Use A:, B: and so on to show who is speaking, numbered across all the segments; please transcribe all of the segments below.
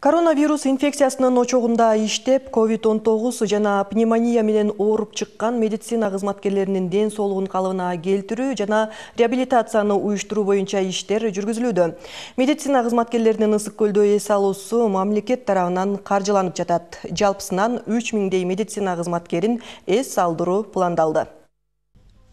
A: Коронавирус инфекциясынын очогунда иштеп, COVID-19 жана пневмония менен ооруп чыккан медицина кызматкерлеринин ден соолугун калыбына келтирүү жана реабилитацияны уюштуруу боюнча иштер жүргүзүлүүдө. Медицина кызматкерлеринин Ысык көлдө эс алуусу мамлекет тарабынан каржыланып жатат. Жалпысынан 3000 медицина кызматкерин эс алдыруу пландалды.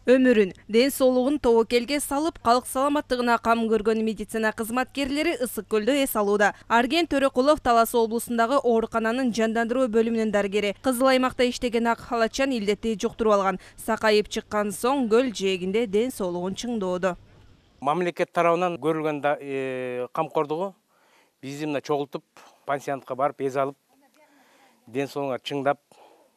B: Өмүрүн, ден соолугун тобокелге салып, калк саламаттыгына кам көргөн медицина кызматкерлери Ысык көлдө эс алууда. Арген Төрөкулов Талас облусундагы оорукананын жандандыруу бөлүмүнүн дарыгери. Кызыл аймакта иштеген ак халачан илдетти жуктуруп алган. Сакайып чыккан соң көл жээгинде ден соолугун чыңдоодо.
C: Мамлекет тарабынан көрүлгөн камкордугу бизди мына чогултуп, пансионатка барып эс алып, ден соолугуңар чыңдап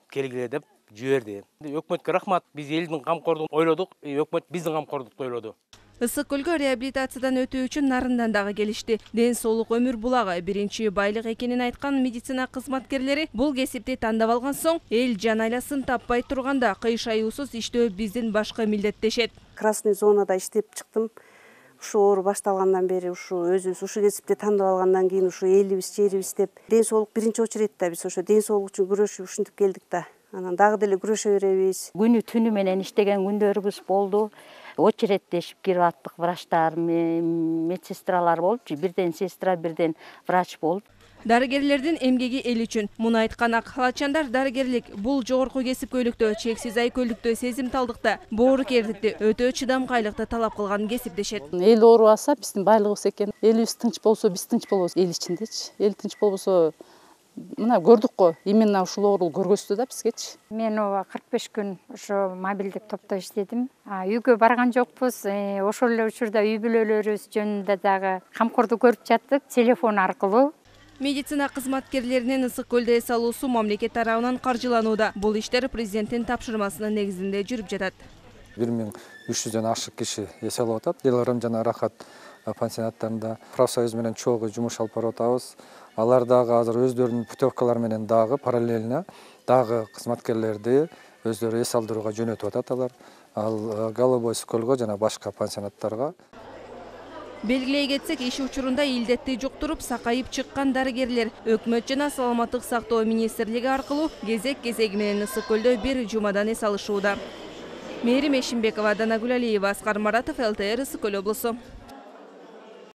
C: келгиле деп жиберди. Өкмөткө рахмат, биз элдин камкордугун ойлодук, өкмөт биздин камкордукту ойлоду.
B: Ысык көлгө реабилитациядан өтүү үчүн нарындан дагы келишти. Ден соолук өмүр булагы биринчи байлык экенин айткан медицина кызматкерлери бул кесипти тандап алган соң, эл жан айласын таппай турганда кыйш аюусуз иштөө биздин башкы милдет дешет.
D: Красный зонада иштеп чыктым. Ушу оору башталгандан бери өзүбүз ушу кесипти тандап алгандан кийин элибиз жерибиз деп ден соолук биринчи очередте биз ошо ден соолук үчүн күрөшүп ушинтип келдик да. Анан дагы деле күрөшө беребиз.
E: Күнү түнү менен иштеген күндөрүбүз болду. Очередтешип кирип аттык, врачтар, медсестралар болчу. Бирден сестра, бирден врач болду.
B: Дарыгерлердин эмгеги эл үчүн. Муну айткан ак халачандар дарыгерлик бул жогорку кесипкөйлүктө, чексиз айкөлдүктө, сезимталдыкта, боорукердикти, өтө чыдамкайлыкты талап кылган кесип дешет.
F: Эл оорубаса биздин байлыгыбыз экен. Элибиз тынч болсо, биз тынч болобуз эл ичиндечи. Эл тынч болбосо мына көрдүк го, именно ушул оору көргөзтү да бизгечи.
G: Мен 45 күн ошо мобилдик топто иштедим. Үйгө барган жокпуз. Ошол эле учурда үй бүлөлөрүбүз жөнүндө дагы камкордук көрүп жаттык телефон аркылуу.
B: Медицина кызматкерлеринин Ысык көлдө эс алуусу мамлекет тарабынан каржыланууда. Бул иштер президенттин тапшырмасынын негизинде жүрүп жатат.
H: 1300дөн ашык киши эс алып атат. Деларым жана Рахат пансионаттарында профсоюз менен чогуу жумуш алып барып атабыз. Алар дагы азыр өздөрүнүн путевкалары менен дагы параллельно дагы кызматкерлерди өздөрү эс алдырууга жөнөтүп атат алар. Ал Голубой көлгө жана башка пансионаттарга.
B: Белгилей кетсек, иш учурунда илдетти жуктуруп, сакайып чыккан дарыгерлер өкмөт жана саламаттык сактоо министрлиги аркылуу кезек-кезеги менен Ысык көлдө бир жумадан эс алышууда. Мээрим Эшимбекова, Данагүл Алиева, Аскар Маратов, ЛТР, Ысык көл облусу.